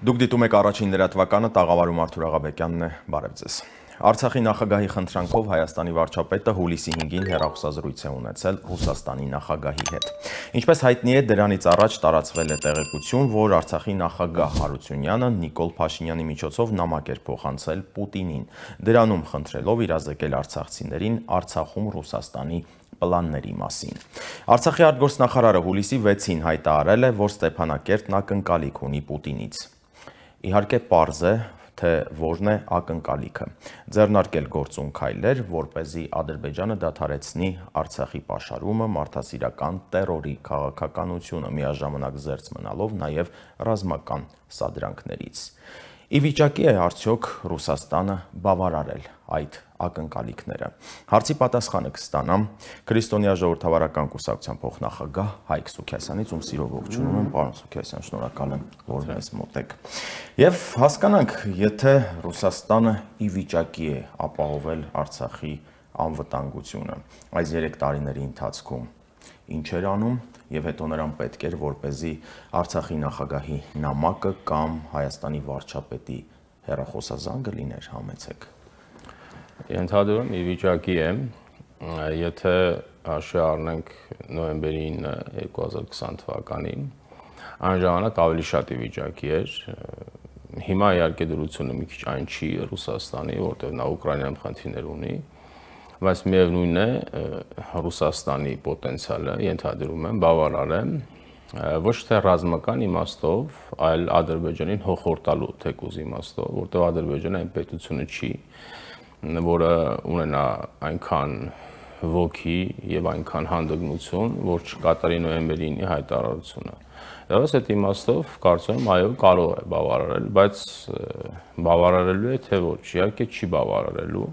Դուք դիտում եք առաջին լրատվականը, տաղավարում Արթուր Աղաբեկյանն է, բարև ձեզ։ Արցախի նախագահի խնդրանքով Հայաստանի վարչապետը հուլիսի 5-ին հեռախոսազրույց է ունեցել Ռուսաստանի նախագահի հետ։ Ինչպես հայտնի է, դրանից առաջ տարածվել է տեղեկություն, որ Արցախի նախագահ Հարությունյանը Նիկոլ Փաշինյանի միջոցով նամակ էր փոխանցել Պուտինին, դրանում խնդրելով իրազեկել արցախցիներին Արցախում Ռուսաստանի պլանների մասին։ Արցախի արտգործնախարարը հուլիսի 6-ին հայտարարել է, որ Ստեփանակերտն ակնկալիք ունի Պուտինից։ Իհարկե պարզ է, թե որն է ակնկալիքը։ Ձեռնարկել գործուն քայլեր, որպեսզի Ադրբեջանը դադարեցնի Արցախի պաշարումը, մարդասիրական տերորի քաղաքականությունը, միաժամանակ զերծ մնալով նաև ռազմական սադրանքներից։ Ի վիճակի է արդյոք Ռուսաստանը բավարարել այդ ակնկալիքները։ Հարցի պատասխանը կստանամ Քրիստոնյա ժողովրդավարական կուսակցության փոխնախագահ Հայկ Սուքիասյանից, ում սիրով ողջունում եմ, պարոն Սուքիասյան, շնորհակալ եմ, որ մեզ մոտ եք։ Եվ հասկանանք, եթե Ռուսաստանը ի վիճակի է ապահովել Արցախի անվտանգությունը, այս 3 տարիների ընթացքում ինչ էր անում եւ հետո նրան պետք էր, որպեսզի Արցախի նախագահի նամակը կամ Հայաստանի վարչապետի հեռախոսազանգը լիներ, համեցեք։ Ենթադրում ի վիճակի է, եթե հաշվի առնենք նոյեմբերի 9 2020 թվականին, այն ժամանակ ավելի շատ ի վիճակի էր։ Հիմա իհարկե դրությունը մի քիչ այն չի Ռուսաստանի, որտեղ նա Ուկրաինայում խնդիրներ ունի, բայց միևնույն է Ռուսաստանի պոտենցիալը ենթադրում եմ բավարար է ոչ թե ռազմական իմաստով, այլ Ադրբեջանին հոխորտալու թեկուզ իմաստով, որտեղ Ադրբեջանը այն պետությունը չի, որը ունենա այնքան ոգի եւ այնքան հանդգնություն, որ չկատարի նոյեմբերի 9-ի հայտարարությունը։ Դրանց այդ իմաստով կարծում եմ այո կարող է բավարարել, բայց բավարարելու է թե ոչ, իհարկե չի բավարարելու։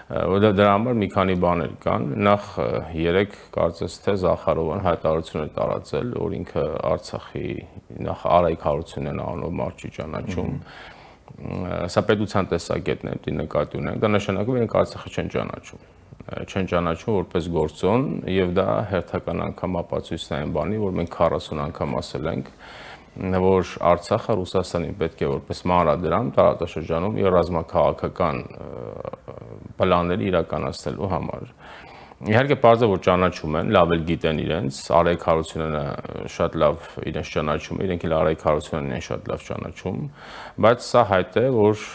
Որտեղ դրա համար մի քանի բաներ կան, նախ 3 կարծես թե Զախարովան հայտարարություն է տարածել, որ ինքը Արցախի նախ Արայք Հարությունյանն անունով մարդ չի ճանաչում, սա պետության տեսակետն է, դի նկատի ունենք, դա նշանակում է իրենք Արցախը չեն ճանաչում որպես գործոն, եւ դա հերթական անգամ ապացույցն է այն բանի, որ մենք 40 անգամ ասել ենք, որ Արցախը Ռուսաստանին պետք է որպես մանրադրամ տարածաշրջանում իր ռազմաքաղաքական պլանները իրականացնելու համար։ Իհարկե պարզ է, որ ճանաչում են, լավ էլ գիտեն իրենց, Արայք Հարությունյանը շատ լավ իրենց ճանաչում է, իրենք էլ Արայք Հարությունյանն են շատ լավ ճանաչում, բայց սա հայտ է, որ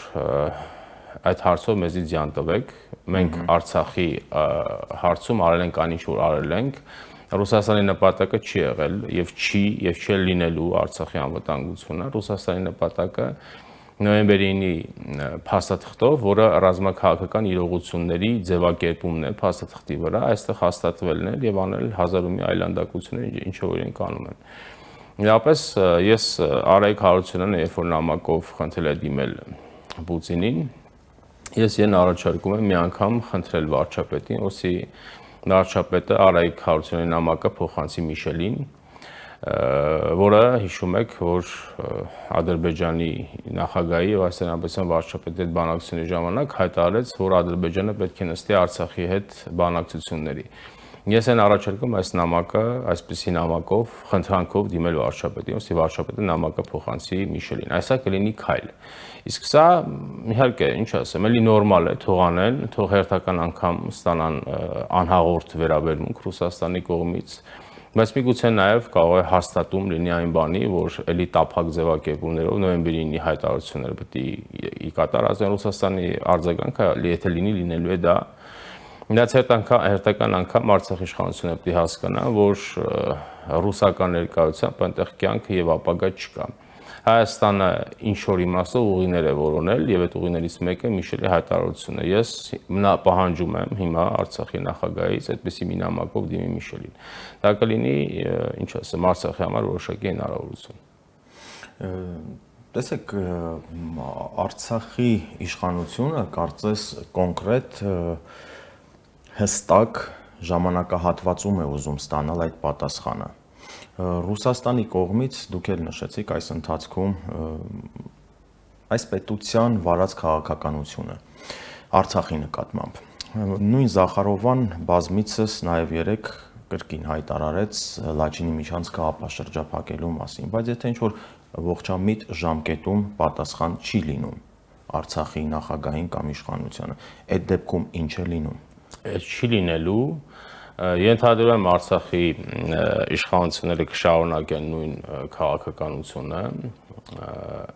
այդ հարցով մեզի ձյան տվեք, մենք Արցախի հարցում արել ենք այն ինչ որ արել ենք, Ռուսաստանի նպատակը չի եղել եւ չի լինելու Արցախի անվտանգությունը, Ռուսաստանի նպատակը նոյեմբերի 9-ի փաստաթղթով, որը ռազմաքաղաքական իրողությունների ձևակերպումն է փաստաթղթի վրա, այստեղ հաստատվելն է եւ անել հազար ու մի այլանդակություններ, ինչը որ իրենք անում են։ Միապես ես Արայք Հարությունյանը, երբ որ նամակով խնդրել է դիմել Պուտինին, ես իրեն առաջարկում եմ մի անգամ խնդրել վարչապետին, որսի վարչապետը Արայք Հարությունյանի նամակը փոխանցի Միշելին, որը հիշում եք, որ Ադրբեջանի նախագահի եւ Հայաստան վարչապետի հետ բանակցությունների ժամանակ հայտարարեց, որ Ադրբեջանը պետք է նստի Արցախի հետ բանակցությունների։ Ես այն առաջարկում այս նամակը, այսպիսի նամակով, խնդրանքով դիմել վարչապետին, ոսի վարչապետը նամակը փոխանցի Միշելին։ Այսա կլինի քայլ։ Իսկ սա իհարկե, ինչ ասեմ, էլի նորմալ է, թող անեն, թող հերթական անգամ ստանան անհաղորդ վերաբերմունք Ռուսաստանի կողմից, բայց միգուցե նաև կարող է հաստատում լինի այն բանի, որ էլի տափակ ձևակերպումներով նոյեմբերի 9-ի հայտարարությունները պետք է կատարածեն Ռուսաստանի արձագանքը, եթե լինելու է դա։ Դից հերթական անգամ Արցախի իշխանությունը պետք է հասկանա, որ ռուսական ներկայությամբ այնտեղ կյանք եւ ապագա չկա։ Հայաստանը ինչ որ իմաստով ուղիներ է որոնել եւ այդ ուղիներից մեկը Միշելի հայտարարությունն է։ Ես պահանջում եմ հիմա Արցախի նախագահից այդպիսի մի նամակով դիմի Միշելին։ Դա կլինի, ինչ ասեմ, Արցախի համար որոշակի հնարավորություն։ Տեսեք, Արցախի իշխանությունը կարծես կոնկրետ հստակ ժամանակահատվածում է ուզում ստանալ այդ պատասխանը։ Ռուսաստանի կողմից դուք էլ նշեցիք այս ընթացքում այս պետության վարած քաղաքականությունը Արցախի նկատմամբ։ Նույն Զախարովան բազմիցս նաև 3 կրկին հայտարարեց Լաչինի միջանցքը ապաշրջափակելու մասին, բայց եթե ինչ որ ողջամիտ ժամկետում պատասխան չի լինում Արցախի նախագահին կամ իշխանությանը։ Այդ դեպքում ինչ է լինում։ Այդ չի լինելու, ենթադրում եմ Արցախի իշխանությունները կշարունակեն նույն քաղաքականությունը,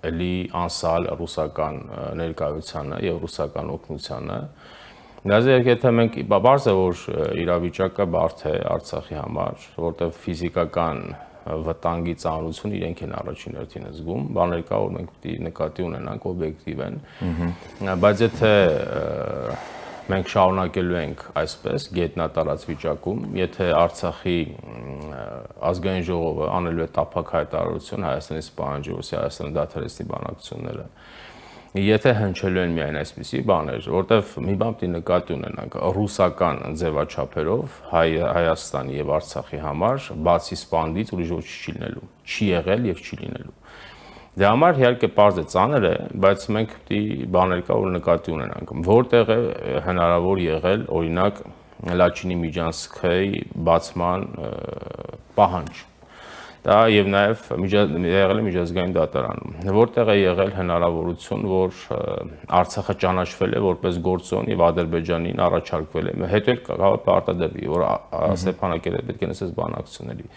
էլի անսալ ռուսական ներկայությանը եւ ռուսական օգնությանը։ Դարձյալ եթե մենք բարձ է որ իրավիճակը բարդ է Արցախի համար, որտեղ ֆիզիկական վտանգի ծանրություն իրենք են առաջին հերթին զգում, բաներ կա որ մենք պետք է նկատի ունենանք օբյեկտիվ են, բայց եթե մենք շարունակելու ենք այսպես գետնատարած վիճակում, եթե Արցախի ազգային ժողովը անելու է տափակ հայտարարություն Հայաստանից պահանջի, որ Հայաստանը դադարեցնի բանակցությունները, եթե հնչելու են միայն այսպիսի բաներ, որտեվ մի բան պետք է նկատի ունենանք, ռուսական ձևաչափերով Հայաստանի եւ Արցախի համար բացի սպանդից ուրիշ ոչինչ չի լինելու, չի եղել եւ չի լինելու։ Դե համար իհարկե պարզ է ծանր է, բայց մենք պետք է բաներ կա որ նկատի ունենանք, որտեղ է հնարավոր եղել օրինակ Լաչինի Միջանցքի բացման պահանջ։ Դա եւ նաեւ եղել է միջազգային դատարանում, որտեղ է եղել հնարավորություն, որ Արցախը ճանաչվել է որպես գործոն եւ Ադրբեջանին առաջարկվել է, հետո էլ կարող է պարտադրվի, որ Ստեփանակերտը պետք է նստես բանակցությունների։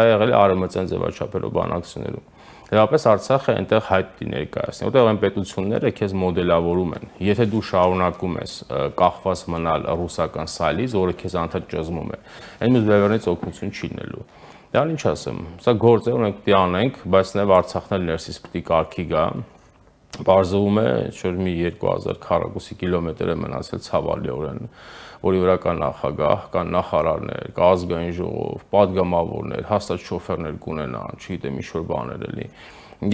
Դա եղել է արևմտյան ձևաչափերով բանակցություններում։ Դեպապես Արցախը այնտեղ հայտ ներկայացնի, որտեղ այն պետությունները քեզ մոդելավորում են։ Եթե դու շարունակում ես կախված մնալ ռուսական սայլից, որը քեզ անդադ ճզմում է, այն ուզբերից օգնություն չի լինելու։ Դա ինչ ասեմ, սա գործ է, ունենք պետք է անենք, բայց նաև Արցախն էլ ներսից պետք է կարգի գա։ Բարձվում է, որ մի 2000 քառակուսի կիլոմետր է մնացել ցավալիորեն, որի վրա կա նախագահ, կան նախարարներ, կա ազգային ժողով, падգամավորներ, հաստատ շոֆերներ կունենան, չգիտեմ ինչ որ բաներ էլի։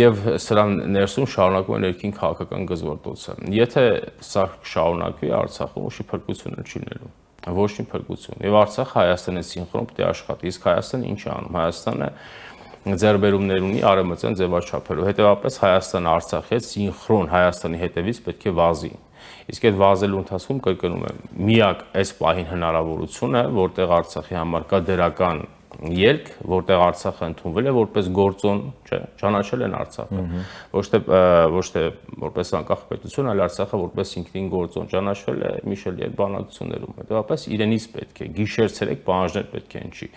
Եվ սրան ներսում շարունակում է ներքին քաղաքական գզվորտոցը։ Եթե սա շարունակվի Արցախում, ոչի փրկություն չի լինելու։ Ոչ մի փրկություն։ Եվ Արցախը Հայաստանի սինխրոն պետք է աշխատի։ Իսկ Հայաստանը ինչ է անում։ Հայաստանը ձեռբերումներ ունի արևմտյան ձևաչափերով։ Հետևաբար Հայաստանը Արցախի հետ սինխրոն Հայաստանի հետևից պետք է վազի։ Իսկ այդ վազելու ընթացքում կրկնում եմ, միակ այս պահին հնարավորությունը, որտեղ Արցախի համար կա դրական ելք, որտեղ Արցախը ընդունվել է որպես գործոն, չէ, ճանաչել են Արցախը։ Ոչ թե որպես անկախ պետություն, այլ Արցախը որպես ինքնին գործոն ճանաչվել է Միշելի այդ բանակցություններում։ Հետևաբար իրենից պետք է գիշեր-ցերեկ պահանջներ պետք է հնչի։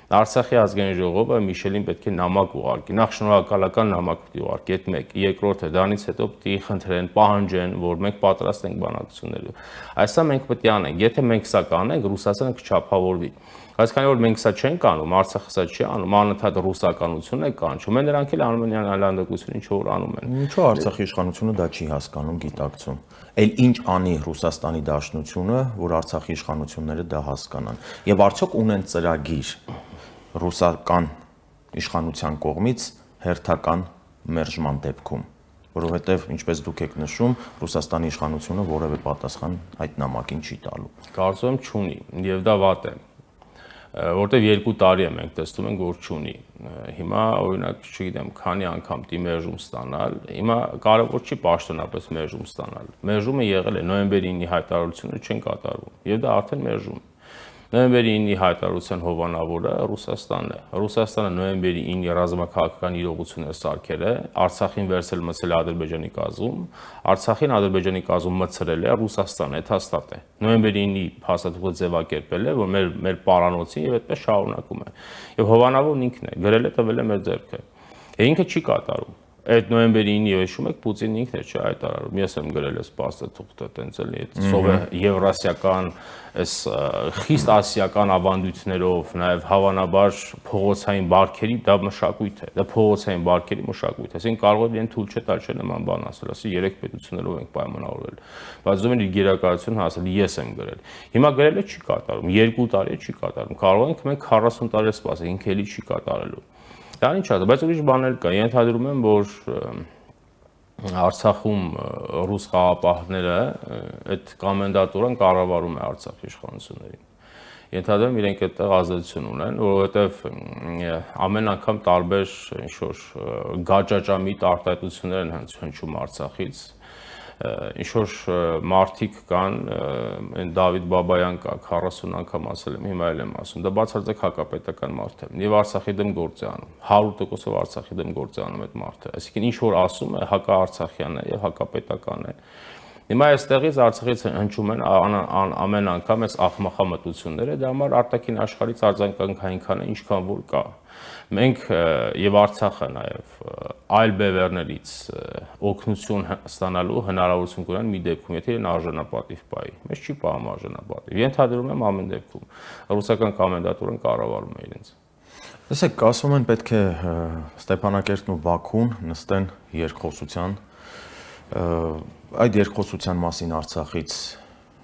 Արցախի ազգային ժողովը Միշելին պետք է նամակ ուղարկի, նախ շնորհակալական նամակ պետք է ուղարկի, այդ մեկ, երկրորդը դրանից հետո պետք է խնդրեն, պահանջեն, որ մենք պատրաստ ենք բանակցությունների։ Այսա մենք պետք է անենք, եթե մենք սա կանենք, Ռուսաստանը կչափավորվի։ Բայց քանի որ մենք սա չենք անում, Արցախը սա չի անում, անընդհատ ռուսականություն է կանչում, նրանք էլ անում են այլանդակություն, ինչ որ անում են։ Ինչու Արցախի իշխանությունը դա չի հասկանում, գիտակցում։ Էլ ինչ անի Ռուսաստանի Դաշնությունը, որ Արցախի իշխանությունները դա հասկանան։ Եվ արդյոք ունեն ծրագիր ռուսական իշխանության կողմից հերթական մերժման դեպքում, որովհետև ինչպես դուք եք նշում, Ռուսաստանի իշխանությունը որևէ պատասխան այդ նամակին չի տալու։ Կարծում եմ չունի, եւ դա վատ է, որտեվ 2 տարի է մենք տեսնում ենք, որ չունի։ Հիմա օրինակ, չգիտեմ, քանի անգամ դի մերժում ստանալ, հիմա կարևոր չի պաշտոնապես մերժում ստանալ։ Մերժումը եղել է նոյեմբերի 9-ի հայտարարությունը չեն կատարվում, եւ դա արդեն մերժում։ Նոյեմբերի 9-ի հայտարարության հովանավորը Ռուսաստանն է։ Ռուսաստանը նոյեմբերի 9-ի ռազմաքաղաքական իրողությունները սարքել է, Արցախին վերցել մցել Ադրբեջանի կազմում, Արցախին Ադրբեջանի կազմում մցրել է Ռուսաստանը, դա հաստատ է։ Նոյեմբերի 9-ի փաստաթուղթը ձևակերպել է, որ մեր պարանոցին եւ այդպես շարունակում է։ Եվ հովանավորն ինքն է, գրել է, տվել է մեր ձեռքը։ Ինքը չի կատարում։ Այդ նոյեմբերի 9-ի հիշում եք Պուտինն ինքն է հայտարարում։ Ես եմ գրել այս փաստաթուղթը, տենց էլի այդ եվրասիական, այս խիստ ասիական ավանդույթներով, նաև հավանաբար փողոցային բարքերի դա մշակույթ է, դա փողոցային բարքերի մշակույթ է։ Այսինքն կարող է իրեն թույլ չտալ չէ նման բան ասել, ասի 3 պետություններով ենք պայմանավորվել։ Բայց ում իր գերակայությունը ասել ես եմ գրել։ Հիմա գրելը չի կատարում, 2 տարի չի կատարում։ Կարող ենք մենք 40 տարի սպասել, ինքը էլի չի կատարելու։ Դա ինչ է, բայց ուրիշ բաներ կա։ Ենթադրում եմ, որ Արցախում ռուս խաղապահները այդ կոմենդատորան կառավարում է Արցախի իշխանություններին։ Ենթադրում իրենք այդտեղ ազդեցություն ունեն, որովհետև ամեն անգամ տարբեր ինչ որ գաճաճամիտ արտահայտություններ են հնչում Արցախից։ ինչ որ մարդիկ կան, այն Դավիթ Բաբայան կա, 40 անգամ ասել եմ, հիմա էլ եմ ասում, դա բացարձակ հակապետական մարդ է։ Եվ Արցախի դեմ գործ է անում, 100%-ով Արցախի դեմ գործ է անում այդ մարդը։ Այսինքն ինչ որ ասում է, հակաարցախյան է եւ հակապետական է։ Հիմա այստեղից Արցախից հնչում են ամեն անգամ այս աղմախամտությունները, դա համար արտաքին աշխարհից արձագանքային քանը ինչքան որ կա։ Մենք եւ Արցախը նաեւ այլ բևեռներից օգնություն ստանալու հնարավորություն կունեն մի դեպքում, եթե իրեն արժանապատիվ պայի։ Մեզ չի պահում արժանապատիվ։ Ենթադրում եմ ամեն դեպքում ռուսական կոմենդատորեն կառավարում է իրենց։ Տեսեք, ասում են պետք է Ստեփանակերտն ու Բաքուն նստեն երկխոսության այդ երկխոսության մասին Արցախից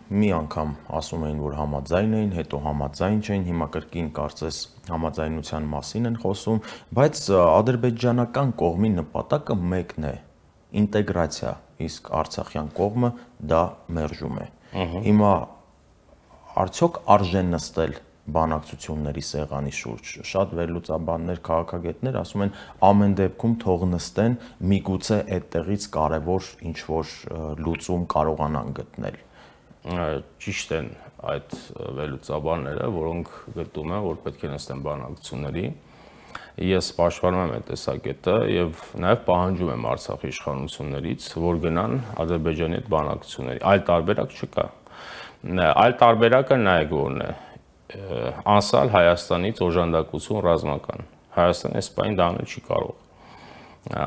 մի անգամ ասում էին, որ համաձայն էին, հետո համաձայն չէին, հիմա կրկին կարծես համաձայնության մասին են խոսում, բայց ադրբեջանական կողմի նպատակը մեկն է՝ ինտեգրացիա, իսկ արցախյան կողմը դա մերժում է։ Հիմա արդյոք արժե նստել բանակցությունների սեղանի շուրջ։ Շատ վերլուծաբաններ, քաղաքագետներ ասում են ամեն դեպքում թող նստեն, միգուցե այդտեղից կարևոր ինչ-որ լուծում կարողանան գտնել։ Ճիշտ են այդ վերլուծաբանները, որոնք գտնում են, որ պետք է նստեն բանակցությունների։ Ես պաշտպանում եմ այդ տեսակետը եւ նաեւ պահանջում եմ Արցախի իշխանություններից, որ գնան Ադրբեջանի հետ բանակցությունների։ Այլ տարբերակ չկա։ Այլ տարբերակը նայեք որն է։ Անսալ Հայաստանից օժանդակություն ռազմական։ Հայաստանը այս պայն դա անել չի կարող։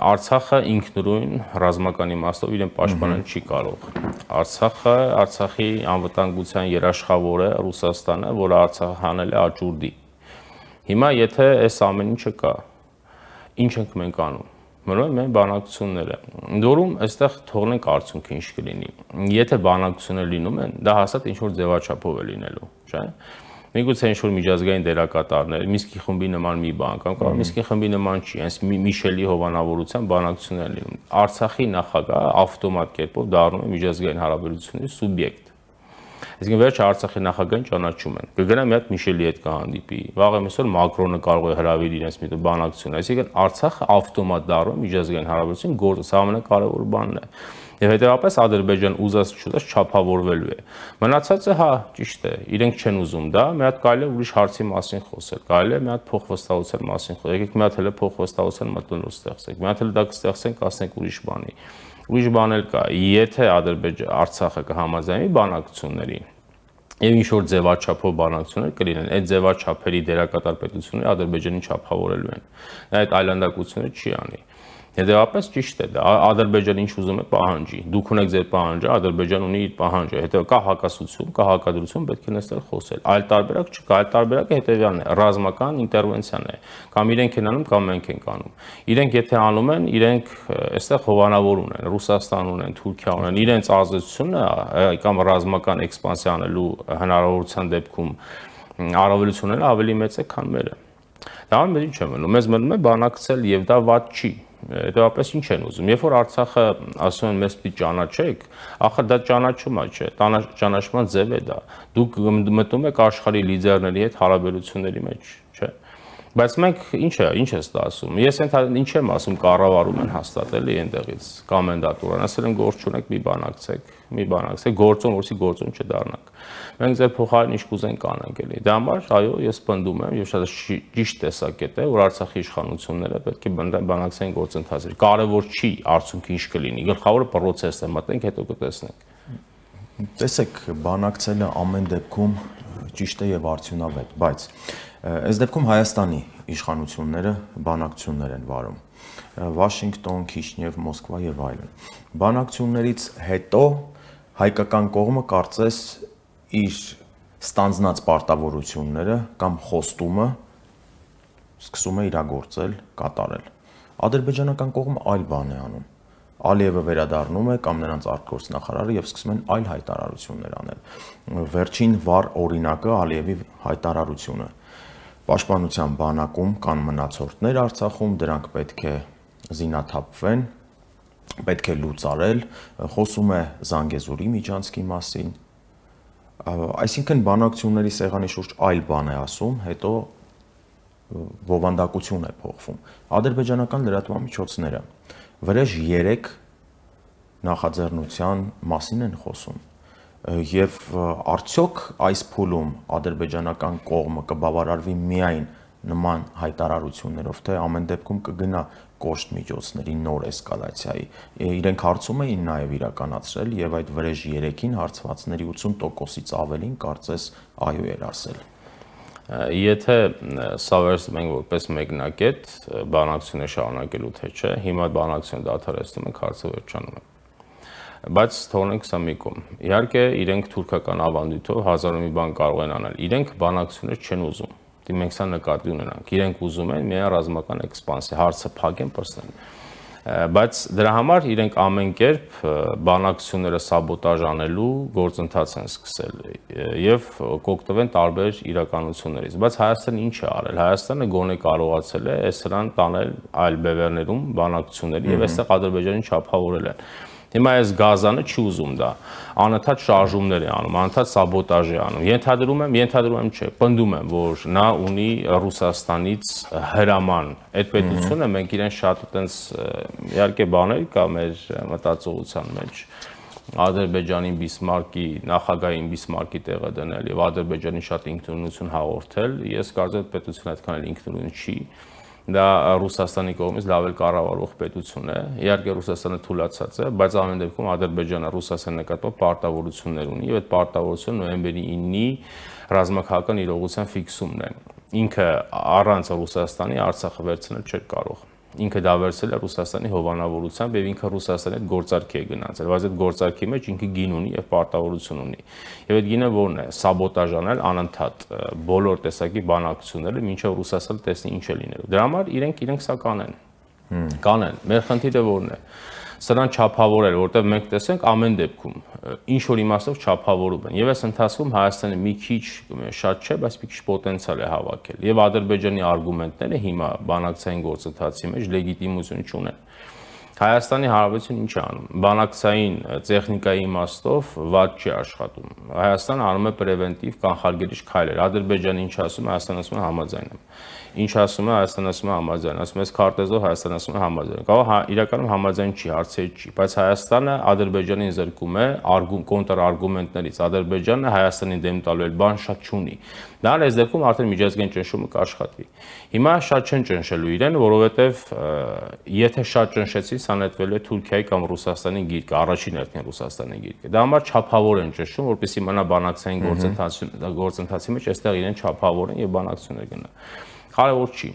Արցախը ինքնուրույն ռազմական իմաստով իրեն պաշտպանել չի կարող։ Արցախը, Արցախի անվտանգության երաշխավորը Ռուսաստանը, որը Արցախը հանել է աճուրդի։ Հիմա եթե այս ամեն ինչը կա, ինչ ենք մենք անում։ Մնում են բանակցությունները։ Ընդ որում, այստեղ թողնենք արդյունքը ինչ կլինի։ Եթե բանակցություններ լինում են, դա հաստատ ինչ որ ձևաչափով է լինելու, չէ՞։ Միգուցե ինչ-որ միջազգային դերակատարներ, Մինսկի խմբի նման մի բան կամ կարող Մինսկի խմբի նման չի, հենց Միշելի հովանավորության բանակցություններ լինում։ Արցախի նախագահը ավտոմատ կերպով դառնում է միջազգային հարաբերությունների սուբյեկտ։ Այսինքն վերջը Արցախի նախագահին ճանաչում են։ Կգնա մի հատ Միշելի հետ կհանդիպի։ Վաղը այսօր Մակրոնը կարող է հրավիրել իրենց մի բանակցություն։ Այսինքն Արցախը ավտոմատ դառնում է միջազգային հարաբերություն գործը, սա ամենակարևոր բանն է։ Եվ հետեւաբար Ադրբեջան ուզած չուզած չափավորվելու է։ Մնացածը հա, ճիշտ է, իրենք չեն ուզում դա, մի հատ կարելի է ուրիշ հարցի մասին խոսել, կարելի է մի հատ փոխվստահության մասին խոսել, եկեք մի հատ հələ փոխվստահության մտնոլորտ ստեղծենք, մի հատ հələ դա կստեղծենք, ասենք ուրիշ բանի։ Ուրիշ բան էլ կա, եթե Արցախը կհամաձայնի բանակցությունների, եւ ինչ որ ձևաչափով բանակցություններ կլինեն, այդ ձևաչափերի դերակատար պետությունները Ադրբեջանին չափավորելու են։ Նա այդ այլանդակությունը չի անի։ Հետևաբար ճիշտ է դա, Ադրբեջանը ինչ ուզում է պահանջի, դուք ունեք ձեր պահանջը, Ադրբեջանը ունի իր պահանջը, հետո կա հակասություն, կա հակադրություն, պետք է նստել խոսել։ Այլ տարբերակ չկա, այլ տարբերակը հետևյալն է, ռազմական ինտերվենցիան է, կամ իրենք են անում, կամ մենք ենք անում։ Իրենք եթե անում են, իրենք այստեղ հովանավոր ունեն, Ռուսաստան ունեն, Թուրքիա ունեն, իրենց ազդեցությունը կամ ռազմական էքսպանսիա անելու հնարավորության դեպքում առավելությունները ավելի մեծ է, քան մերը։ Դա մեզ ինչ է մնում, մեզ մնում է բանակցել եւ դա վատ չի։ Հետևաբար ինչ են ուզում։ Երբ որ Արցախը ասում են մեզ պիտի ճանաչեք, ախր դա ճանաչումա չէ, ճանաչման ձև է դա։ Դուք մտնում եք աշխարհի լիդերների հետ հարաբերությունների մեջ, չէ՞։ Բայց մենք ինչ է ստասում։ Ես ինչ եմ ասում, կառավարում են հաստատելի այնտեղից կոմենդատորան, ասել են գործ չունեք, մի բանակցեք, գործոն որսի գործոն չդառնաք։ Մենք ձեր փոխարեն ինչ կուզենք կանենք էլի։ Դա համար, այո, ես պնդում եմ եւ շատ ճիշտ տեսակետ է, որ Արցախի իշխանությունները պետք է բանակցային գործընթացներ։ Կարևոր չի արդյունքը ինչ կլինի, գլխավորը process-ն է, մտնենք հետո կտեսնենք։ Տեսեք, բանակցելը ամեն դեպքում ճիշտ է եւ արդյունավետ, բայց այս դեպքում Հայաստանի իշխանությունները բանակցություններ են վարում։ Վաշինգտոն, Քիշնև, Մոսկվա եւ այլն։ Բանակցություններից հետո հայկական կողմը կարծես իր ստանձնած պարտավորությունները կամ խոստումը սկսում է իրագործել, կատարել։ Ադրբեջանական կողմը այլ բան է անում։ Ալիևը վերադառնում է կամ նրանց արտգործնախարարը եւ սկսում են այլ հայտարարություններ անել։ Վերջին վառ օրինակը Ալիևի հայտարարությունը։ Պաշտպանության բանակում կան մնացորդներ Արցախում, դրանք պետք է զինաթափվեն, պետք է լուծարել, խոսում է Զանգեզուրի միջանցքի մասին։ Այսինքն բանակցությունների սեղանի շուրջ այլ բան է ասում, հետո բովանդակություն է փոխվում։ Ադրբեջանական լրատվամիջոցները վրեժ 3 նախաձեռնության մասին են խոսում։ Եվ արդյոք այս փուլում ադրբեջանական կողմը կբավարարվի միայն նման հայտարարություններով, թե ամեն դեպքում կգնա կոշտ միջոցների նոր էսկալացիայի։ Իրենք հարցում էին նաև իրականացրել եւ այդ վրեժ 3-ին հարցվածների 80%-ից ավելին կարծես այո էր ասել։ Եթե սա վերցնում ենք որպես մեկնակետ բանակցությունը շարունակելու թե չէ, հիմա բանակցությունը դադարեցնում ենք, հարցը վերջանում է։ Բայց թողնենք սա մի կողմ։ Իհարկե, իրենք թուրքական ավանդույթով հազար ու մի բան կարող են անել։ Իրենք բանակցություններ չեն ուզում։ Մենք սա նկատի ունենանք։ Իրենք ուզում են միայն ռազմական էքսպանսիա, հարցը փակեն, պրծեն։ Բայց դրա համար իրենք ամեն կերպ բանակցությունները սաբոտաժ անելու գործընթաց են սկսել եւ կօգտվեն տարբեր իրականություններից։ Բայց Հայաստանը ինչ է արել։ Հայաստանը գոնե կարողացել է այս սրան տանել այլ բևեռներում բանակցությունների եւ այստեղ Ադրբեջանին չափավորել են։ Հիմա այս Գազանը չի ուզում դա, անընդհատ շարժումներ է անում, անընդհատ սաբոտաժ է անում։ Ենթադրում եմ չէ, պնդում եմ, որ նա ունի Ռուսաստանից հրաման։ Այդ պետությունը մենք իրեն շատ այտենց իհարկե բաներ կա մեր մտածողության մեջ։ Ադրբեջանին Բիսմարկի, նախագահային Բիսմարկի տեղը դնել եւ Ադրբեջանին շատ ինքնուրույնություն հաղորդել, ես կարծում եմ պետությունը այդքան էլ ինքնուրույն չի։ Դա Ռուսաստանի կողմից լավ էլ կառավարվող պետություն է։ Իհարկե Ռուսաստանը թուլացած է, բայց ամեն դեպքում Ադրբեջանը Ռուսաստանի նկատմամբ պարտավորություններ ունի եւ այդ պարտավորությունը նոյեմբերի 9-ի ռազմաքաղաքական իրողության ֆիքսումն է։ Ինքը առանց Ռուսաստանի Արցախը վերցնել չէր կարող։ Ինքը դա վերցրել է Ռուսաստանի հովանավորությամբ եւ ինքը Ռուսաստանի հետ գործարքի է գնացել, բայց այդ գործարքի մեջ ինքը գին ունի եւ պարտավորություն ունի։ Եվ այդ գինը ո՞րն է։ Սաբոտաժ անել անընդհատ բոլոր տեսակի բանակցությունները, մինչեւ Ռուսաստանը տեսնի ինչ է լինելու։ Դրա համար իրենք սա կանեն։ Կանեն։ Մեր խնդիրը ո՞րն է։ Սրան չափավորել, որտեղ մենք տեսենք ամեն դեպքում ինչ որ իմաստով չափավորում են։ Եվ այս ընթացքում Հայաստանը մի քիչ շատ չէ, բայց մի քիչ պոտենցիալ է հավաքել։ Եվ Ադրբեջանի արգումենտները հիմա բանակցային գործընթացի մեջ լեգիտիմություն չունեն։ Հայաստանի Հանրապետությունը ինչ է անում։ Բանակցային տեխնիկայի իմաստով վատ չի աշխատում։ Հայաստանը անում է պրևենտիվ կանխարգելիչ քայլեր։ Ադրբեջանը ինչ ասում է, Հայաստանը ասում է համաձայն եմ։ Ինչ ասում է, Հայաստանը ասում է համաձայն, ասում է քարտեզով Հայաստանը ասում է համաձայն։ Կարող իրականում համաձայն չի, հարցեր չի, բայց Հայաստանը Ադրբեջանին զրկում է կոնտրարգումենտներից։ Ադրբեջանը Հայաստանին դեմ տալու էլ բան շատ չունի։ Դա այս դեպքում արդեն միջազգային ճնշումը կաշխատվի։ Հիմա շատ չեն ճնշելու իրեն, որովհետև եթե շատ ճնշեցի, սա նետվելու է Թուրքիայի կամ Ռուսաստանի գիրկը, առաջին հերթին Ռուսաստանի գիրկը։ Դա համար չափավոր են ճնշում, որպեսզի մնա բանակցային գործընթացի մեջ, այստեղ իրեն չափավորեն եւ բանակցություններ գնա։ Կարևոր չի։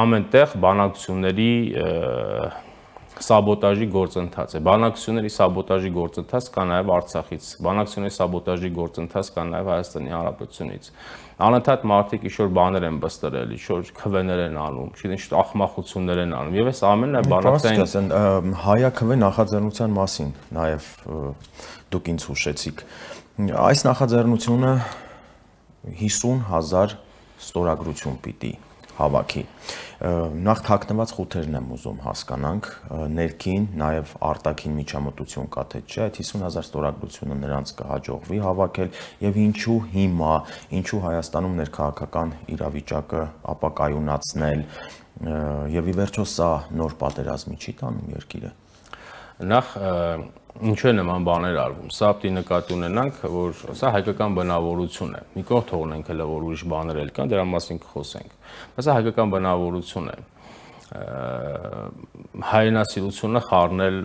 Ամենտեղ բանակցությունների սաբոտաժի գործընթաց է։ Բանակցությունների սաբոտաժի գործընթաց կա նաև Արցախից։ Բանակցությունների սաբոտաժի գործընթաց կա նաև Հայաստանի Հանրապետությունից։ Անընդհատ մարդիկ ինչ-որ բաներ են բստրել, ինչ-որ քվեներ են անում, ինչ ախմախություններ են անում։ Եվ այս ամենն է բանակցային հայաքվե նախաձեռնության մասին նաև դուք ինձ հուշեցիք։ Այս նախաձեռնությունը 50,000 ստորագրություն պիտի հավաքի։ Նախ թաքնված խութերն եմ ուզում հասկանանք, ներքին, նաև արտաքին միջամտություն կա թե չէ, այդ 50,000 ստորագրությունը նրանց կհաջողվի հավաքել եւ ինչու հիմա, ինչու Հայաստանում ներքաղաքական իրավիճակը ապակայունացնել եւ ի վերջո սա նոր պատերազմի չի տանում երկիրը։ Նախ ինչու է նման բաներ արվում։ Սա պիտի նկատի ունենանք, որ սա հայկական բնավորություն է։ Մի կողմ թողնենք հələ որ ուրիշ բաներ էլ կան, դրա մասին կխոսենք։ Բայց սա հայկական բնավորություն է։ Հայրենասիրությունը խառնել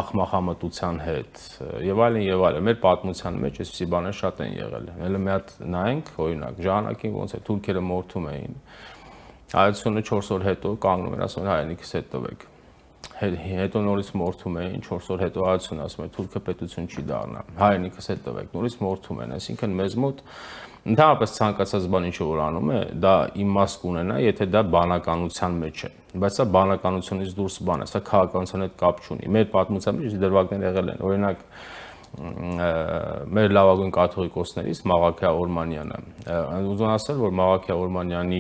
ախմախամտության հետ եւ այլն։ Մեր պատմության մեջ այսպիսի բաներ շատ են եղել։ Հələ մի հատ նայենք, օրինակ, ժամանակին ոնց է թուրքերը մորթում էին։ Հայությունը 4 օր հետո կանգնում են, ասում են հայրենիքս հետ տվեք։ Հետո նորից մորթում էին, 4 օր հետո հայությունը ասում է թուրքը պետություն չի դառնա, հայրենիքս հետ տվեք, նորից մորթում են, այսինքն մեզ մոտ ընդհանրապես ցանկացած բան ինչ որ անում է, դա իմաստ կունենա, եթե դա բանականության մեջ է, բայց սա բանականությունից դուրս բան է, սա քաղաքականության հետ կապ չունի։ Մեր պատմության մեջ դրվագներ եղել են, օրինակ մեր լավագույն կաթողիկոսներից Մաղաքիա Օրմանյանը։ Ուզում ասել, որ Մաղաքիա Օրմանյանի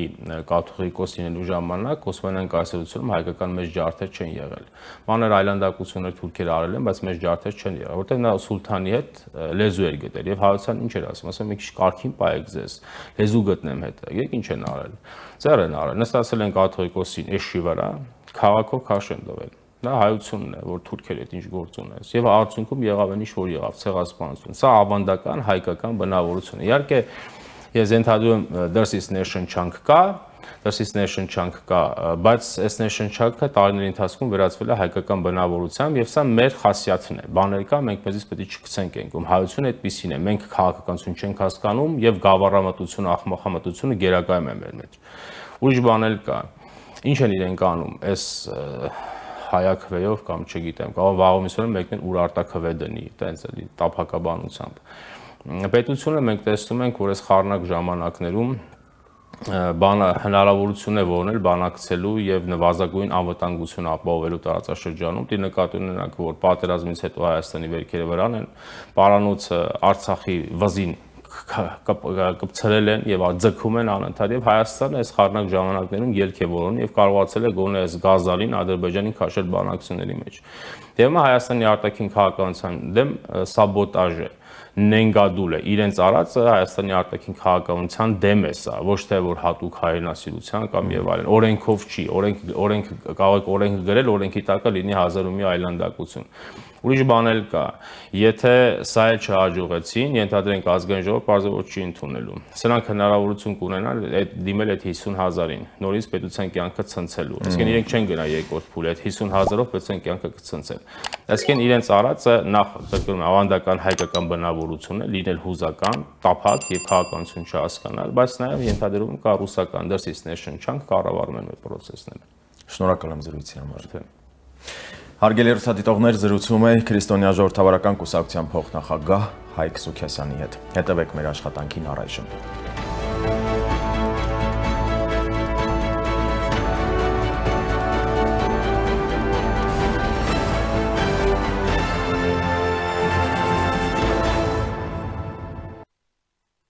կաթողիկոս լինելու ժամանակ Օսմանյան կայսրությունում հայկական մեծ ջարդեր չեն եղել։ Մանր այլանդակություններ թուրքերը արել են, բայց մեծ ջարդեր չեն եղել, որտեղ նա սուլթանի հետ լեզու էր գտել եւ հայության ինչ էր ասում, ասում մի քիչ կարքին պայեք ձեզ, լեզու գտնեմ հետ։ Եկեք ինչ են արել։ Ձեռ են արել, նստացել են կաթողիկոսին էշի վրա, քաղաքով քաշ են տվել։ Դա հայությունն է, որ թուրքերի հետ ինչ գործ ունես։ Եվ արդյունքում եղավ այն ինչ որ եղավ, ցեղասպանություն։ Սա ավանդական հայկական բնավորություն է։ Իհարկե, ես ենթադրում եմ This is Nation chunk կա, This is Nation chunk կա, բայց այս Nation chunk-ը տարիների ընթացքում վերածվել է հայկական բնավորությամբ եւ սա մեր խասյաթն է։ Բաներ կա, մենք մեզից պետք է չգցենք ենքում։ Հայությունը այդպեսին է։ Մենք քաղաքականություն չենք հասկանում եւ գավառամտությունը, աղմախամտությունը գերակայում է մեր մեջ։ Ուրիշ բան էլ կա։ Ինչ են իրենք անում, այս հայաքվեով կամ չգիտեմ, կարող վաղումիսորեն մեկն ուրարտաքվե դնի, տենց էլի տափակաբանությամբ։ Պետությունը մենք տեսնում ենք, որ այս խառնակ ժամանակներում հնարավորություն է որոնել բանակցելու եւ նվազագույն անվտանգություն ապահովելու տարածաշրջանում։ Դի նկատի ունենանք, որ պատերազմից հետո Հայաստանի վերքերը վրան են, պարանոցը Արցախի վզին կպցրել են եւ ձգում են անընդհատ եւ Հայաստանը այս խառնակ ժամանակներում ելք է որոնում եւ կարողացել է գոնե այս գազալին Ադրբեջանին քաշել բանակցությունների մեջ։ Դե հիմա Հայաստանի արտաքին քաղաքականության դեմ սաբոտաժ է, նենգադուլ է, իրենց արածը Հայաստանի արտաքին քաղաքականության դեմ է սա, ոչ թե որ հատուկ հայրենասիրության կամ եւ այլն, օրենքով չի, օրենք կարող օրենք գրել, օրենքի տակը լինի 1000 ու մի այլանդակություն։ Ուրիշ բան էլ կա, եթե սա էլ չհաջողեցին, ենթադրենք ազգային ժողովը պարզապես չի ընդունելու։ Սրանք հնարավորություն կունենան դիմել այդ 50,000-ին, նորից պետության կյանքը ցնցելու։ Այսինքն իրենք չեն գնա երկրորդ փուլի, այդ 50,000-ով պետության կյանքը կցնցեն։ Այսինքն իրենց արածը նախ դեպքում ավանդական հայկական բնավորություն է, լինել հուզական, տափակ եւ քաղաքականություն չհասկանալ, բայց նաեւ ենթադրում կա ռուսական This is Nation chunk կառավարում են մեր process-ները։ Շնորհակալ եմ զրույցի համար։ Հարգելի հեռուստադիտողներ, զրուցում է Քրիստոնյա ժողովրդավարական կուսակցության փոխնախագահ Հայկ Սուքիասյանի հետ։ Հետևեք մեր աշխատանքին առայժմ։